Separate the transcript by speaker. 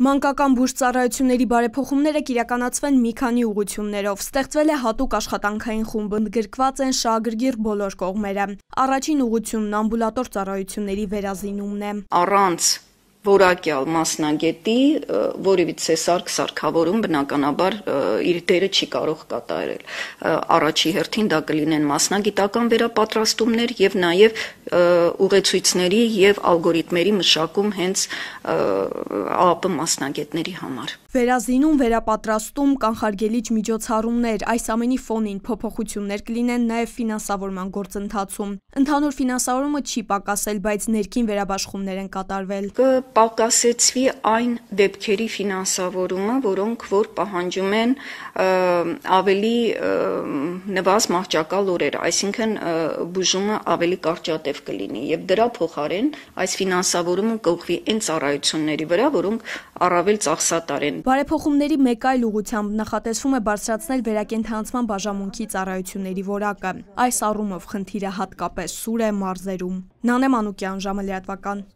Speaker 1: Մանկական բուժծառայությունների բարեփոխումները կիրականացվեն մի քանի ուղղություններով։ Ստեղծվել է հատուկ աշխատանքային խումբ, ընդգրկված են շահագրգիռ բոլոր կողմերը։ Առաջին ուղղությունն ամբուլատոր ծառայությունների վերազինումն է։
Speaker 2: Առանց որակյալ մասնագետի որևիցե սարքավորում բնականաբար իր դերը չի կարող կատարել։ Առաջի հերթին դա կլինեն մասնագիտական վերապատրաստումներ եւ նաեւ ուղեցույցների եւ ալգորիթմերի մշակում հենց ԱԱՊ մասնագետների համար։
Speaker 1: Վերազինում, վերապատրաստում, կանխարգելիչ միջոցառումներ, այս ամենի ֆոնին փոփոխություններ կլինեն նաև ֆինանսավորման գործընթացում։ Ընդհանուր ֆինանսավորումը չի պակասել, բայց ներքին վերաբաշխումներ են կատարվել։
Speaker 2: Կպակասեցվի այն դեպքերի ֆինանսավորումը, որոնք որ պահանջում են ավելի նվազ մահճակալ օրեր, այսինքն բուժումը ավելի կարճատև կլինի եւ դրա փոխարեն այս ֆինանսավորումը կուղղվի այն ծառայությունների վրա, որոնք առավել ծախսատար են։
Speaker 1: Բարեփոխումների մեկ այլ ուղղությամբ նախատեսվում է բարձրացնել վերակենդանացման բաժանմունքի ծառայությունների որակը։ Այս առումով խնդիրը հատկապես սուր է մարզերում։ Նանե Մանուկյան, ժամը լրատվական։